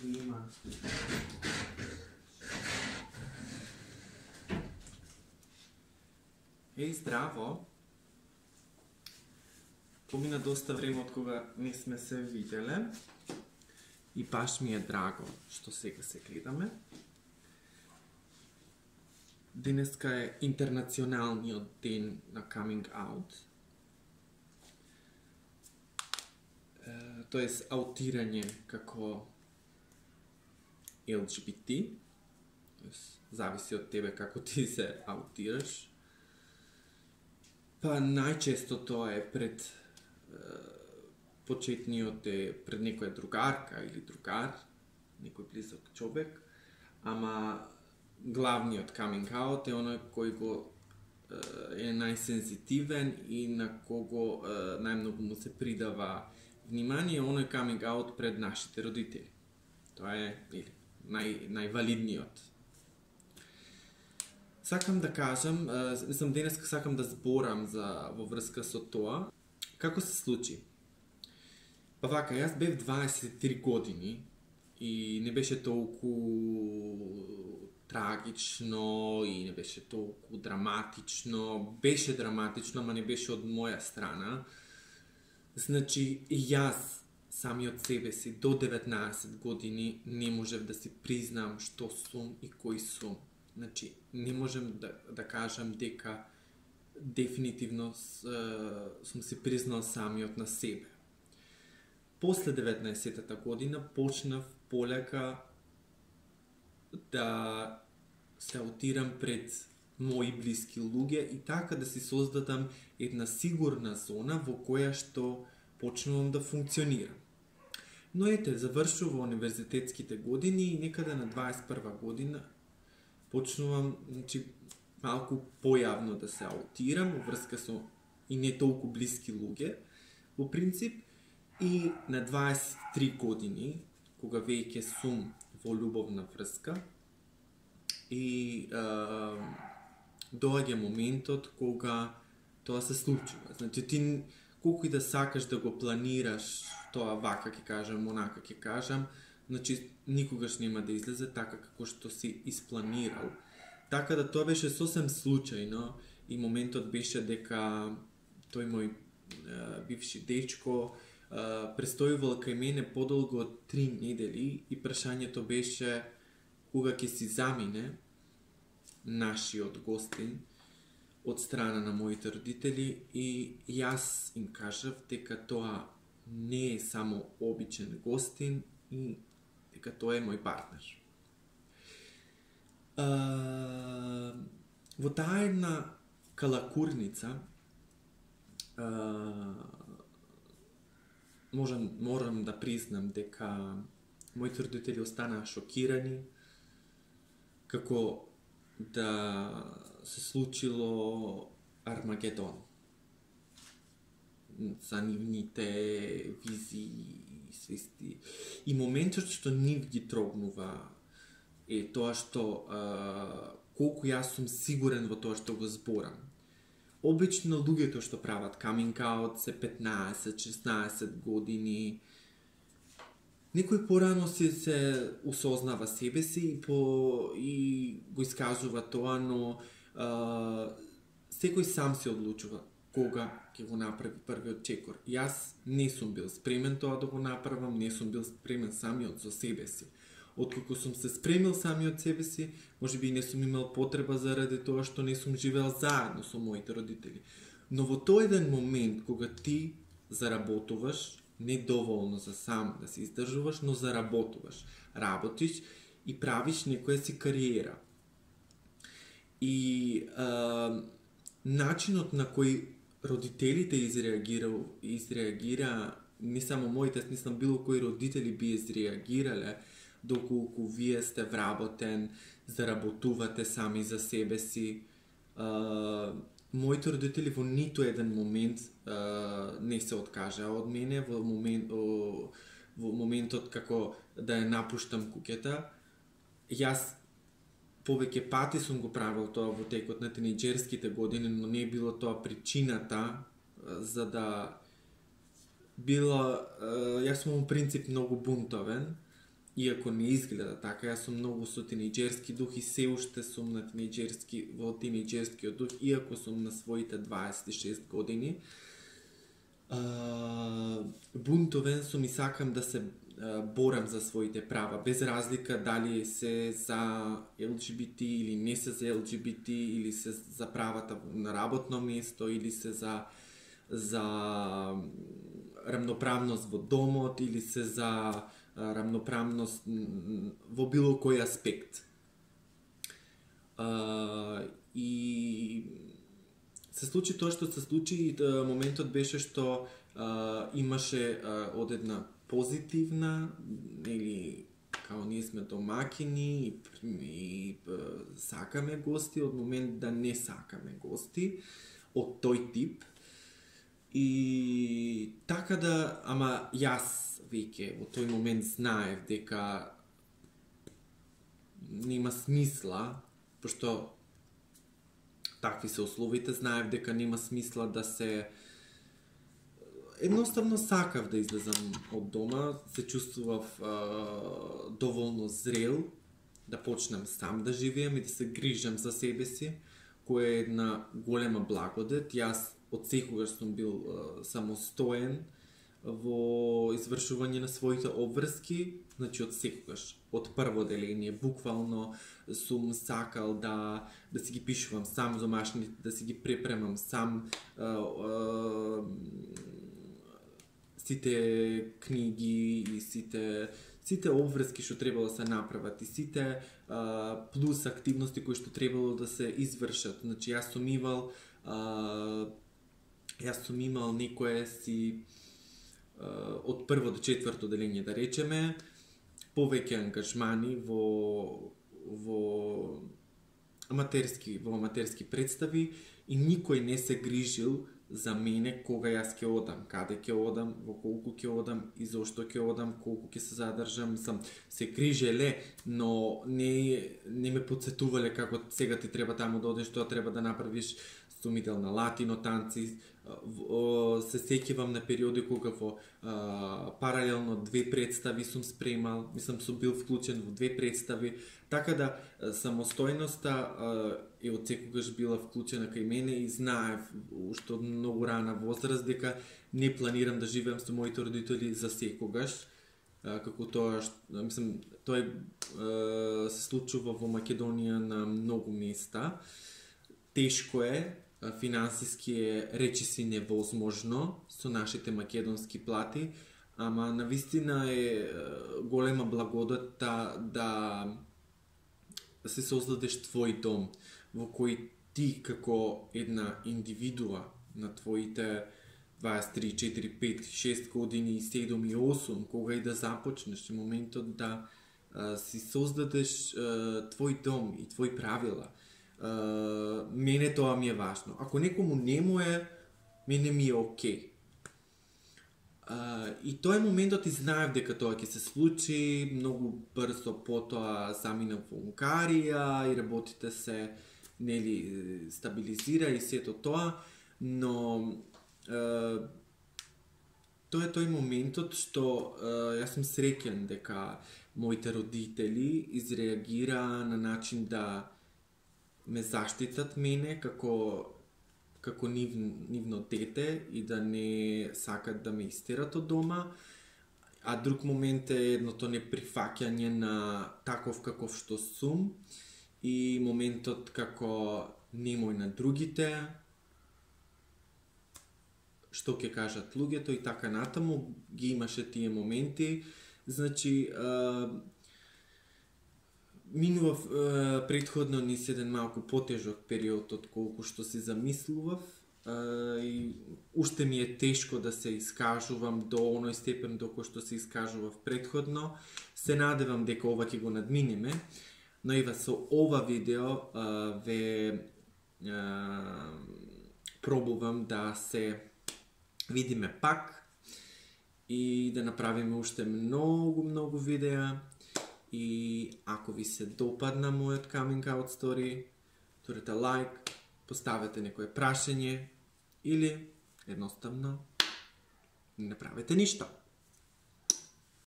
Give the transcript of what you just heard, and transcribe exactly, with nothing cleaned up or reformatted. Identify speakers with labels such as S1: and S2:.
S1: снима. Еј, здраво! Помина доста време од кога не сме се виделе и баш ми е драго што сега се гледаме. Денеска е интернационалниот ден на coming out. Тоест аутирање како Ел Џи Би Ти. Зависи од тебе како ти се аутираш. Па најчесто тоа е пред е, почетниот е пред некоја другарка или другар, некој близок човек, ама главниот coming out е оној кој го е најсензитивен и на кого е, најмногу му се придава внимание, оној coming out пред нашите родители. Тоа е или, нај, највалидниот. Сакам да кажам, мислам денеска сакам да зборам за во врска со тоа. Како се случи? Па вака, јас бев дваесет и три години и не беше толку трагично и не беше толку драматично. Беше драматично, ама не беше од моја страна. Значи, јас самиот себе си до деветнаесет години не можев да си признам што сум и кој сум. Значи, не можем да, да кажам дека дефинитивно сум си признал самиот на себе. После деветнаесеттата година почнав полека да се аутирам пред мои блиски луѓе и така да си создадам една сигурна зона во која што почнувам да функционирам. Но ете, завршува универзитетските години и некаде на дваесет и прва година почнувам, значи, малку појавно да се аутирам во врска со и не толку блиски луѓе, во принцип, и на дваесет и три години, кога веќе сум во љубовна врска, и е, доаѓа моментот кога тоа се случува. Значи, ти колку и да сакаш да го планираш тоа вака ќе кажам, онака ќе кажам, значи никогаш нема да излезе така како што си испланирал. Така да тоа беше сосем случајно и моментот беше дека тој мој е, бивши дечко е, престојувал кај мене подолго од три недели и прашањето беше кога ќе си замине нашиот гостин од страна на моите родители и јас им кажав дека тоа не е само обичен гостин и дека тоа е мој партнер. Uh, во таа една калакурница uh, можам, морам да признам дека моите родители останаа шокирани како да се случило Армагедон за нивните визии и свести. И моментот што нив ги трогнува е тоа што а, колку јас сум сигурен во тоа што го зборам. Обично луѓето што прават coming out се петнаесет шеснаесет години. Некој порано се се осознава себе си и, по, и го искажува тоа, но а, секој сам се одлучува кога ќе го направи првиот чекор. Јас не сум бил спремен тоа да го направам, не сум бил спремен самиот за себе си. Откако сум се спремил самиот себе си, може би не сум имал потреба заради тоа што не сум живеел заедно со моите родители. Но во тој еден момент, кога ти заработуваш, не доволно за сам да се издржуваш, но заработуваш, работиш и правиш некоја си кариера. И а, начинот на кој родителите изреагира, изреагира, не само моите, мислам било кои родители би изреагирале, доколку вие сте вработен, заработувате сами за себе си. А, моите родители во ниту еден момент а, не се откажаа од мене во, момент, о, во моментот како да ја напуштам куќата. Јас повеќе пати сум го правил тоа во текот на тинејџерските години, но не било тоа причината за да било... Јас сум во принцип многу бунтовен иако не изгледа така, јас сум многу со тинејџерски дух и се уште сум на тинејџерски, во тинејџерскиот дух, иако сум на своите дваесет и шест години. Uh, бунтовен сум и сакам да се uh, борам за своите права, без разлика дали се за Ел Џи Би Ти или не се за Ел Џи Би Ти, или се за правата на работно место, или се за за рамноправност во домот, или се за uh, рамноправност во било кој аспект. Uh, и се случи тоа што се случи и моментот беше што а, имаше а, од една позитивна, или као ние сме домакини и, и а, сакаме гости, од момент да не сакаме гости од тој тип. И така да, ама јас веќе во тој момент знаев дека нема смисла, пошто такви се условите, знаев дека нема смисла да се... Едноставно сакав да излезам од дома, се чувствував а, доволно зрел, да почнам сам да живеам и да се грижам за себе си, која е една голема благодет. Јас од секогаш сум бил а, самостоен во извршување на своите обврски, значи од секогаш, од прво деление, буквално сум сакал да да си ги пишувам сам домашните, да си ги препремам сам а, а, сите книги и сите сите обврски што требало да се направат и сите а, плюс активности кои што требало да се извршат. Значи јас сум имал а, јас сум имал некое си од прво до четврто деление, да речеме, повеќе ангажмани во во аматерски во аматерски представи и никој не се грижил за мене кога јас ќе одам, каде ќе одам, во колку ќе одам и зошто ќе одам, колку ќе се задржам. Мислам, се грижеле, но не не ме потсетувале како сега ти треба таму да одиш, тоа треба да направиш, сумител на латино танци. Се сеќавам на периоди кога во а, паралелно две представи сум спремал, мислам сум бил вклучен во две представи, така да самостојноста а, е од секогаш била вклучена кај мене и знаев уште од многу рана возраст дека не планирам да живеам со моите родители за секогаш, а, како тоа, мислам, тоа а, се случува во Македонија на многу места. Тешко е, финансиски е речиси невозможно со нашите македонски плати, ама навистина е голема благодат да, да се создадеш твој дом, во кој ти како една индивидуа на твоите дваесет и три, четири, пет, шест години, седум и осум, кога и да започнеш, моментот да а, си создадеш а, твој дом и твои правила. Uh, мене тоа ми е важно. Ако некому не му е, мене ми е окей. Uh, и тој моментот и знаев дека тоа ќе се случи, многу брзо потоа заминав во Унгарија и работите се нели стабилизира и сето тоа, но uh, тоа е тој моментот што uh, јас сум среќен дека моите родители изреагира на начин да ме заштитат мене како како нив, нивно дете и да не сакат да ме истерат од дома, а друг момент е едното неприфаќање на таков каков што сум и моментот како немој на другите, што ќе кажат луѓето и така натаму, ги имаше тие моменти. Значи, минував е, претходно низ еден малку потежок период од колку што си замислував е, и уште ми е тешко да се искажувам до оној степен до кој што се искажував претходно. Се надевам дека ова ќе го надминеме, но ева со ова видео е, ве е, пробувам да се видиме пак и да направиме уште многу, многу видеа. И ако ви се допадна мојот coming out story, турете лайк, поставете некое прашање или едноставно не направете ништо.